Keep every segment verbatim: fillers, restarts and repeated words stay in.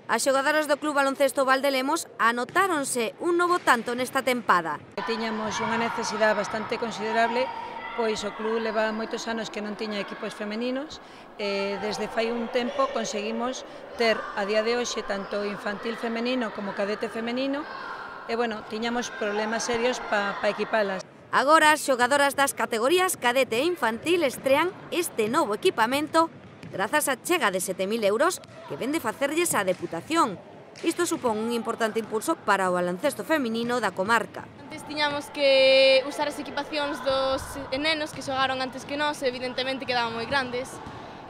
As xogadoras do Club Baloncesto Valdelemos anotáronse un novo tanto nesta tempada. Tiñamos unha necesidade bastante considerable, pois o club leva moitos anos que non tiña equipos femeninos e desde fai un tempo conseguimos ter a día de hoxe tanto infantil femenino como cadete femenino e, bueno, tiñamos problemas serios para pa equipalas. Agora as xogadoras das categorías cadete e infantil estrean este novo equipamento grazas á chega de sete mil euros que vende facerlles á Deputación. Isto supón un importante impulso para o baloncesto feminino da comarca. Antes tiñamos que usar as equipacións dos nenos que xogaron antes que nós, evidentemente quedaban moi grandes.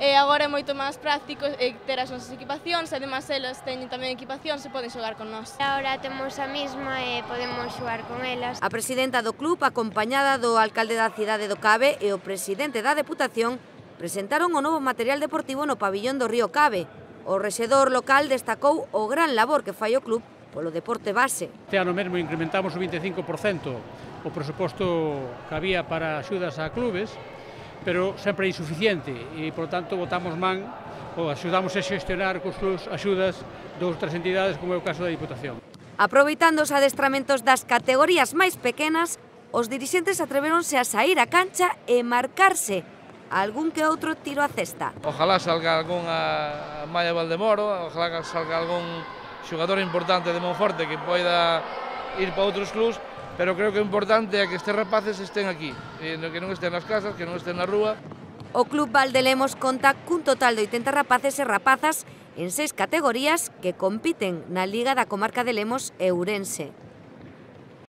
E agora é moito máis práctico ter as nosas equipacións, e además elas teñen tamén equipacións e poden xogar con nós. Agora temos a mesma e podemos xogar con elas. A presidenta do club, acompañada do alcalde da cidade do Cabe e o presidente da Deputación, presentaron o novo material deportivo no pabillón do Río Cabe. O rexedor local destacou o gran labor que fai o club polo deporte base. Este ano mesmo incrementamos o vinte e cinco por cento o presuposto que había para axudas a clubes, pero sempre é insuficiente e, por tanto, botamos man ou axudamos a xestionar cos clubes axudas de outras entidades, como é o caso da Diputación. Aproveitando os adestramentos das categorías máis pequenas, os dirixentes atreveronse a saír á cancha e marcarse algún que outro tiro a cesta. Ojalá salga algunha Maya Valdemoro, ojalá salga algún xogador importante de Monforte que poida ir para outros clubs, pero creo que o importante é que estes rapaces estén aquí, que non estén nas casas, que non estén na rúa. O Club Valdelemos conta cun total de oitenta rapaces e rapazas en seis categorías que compiten na Liga da Comarca de Lemos e Ourense.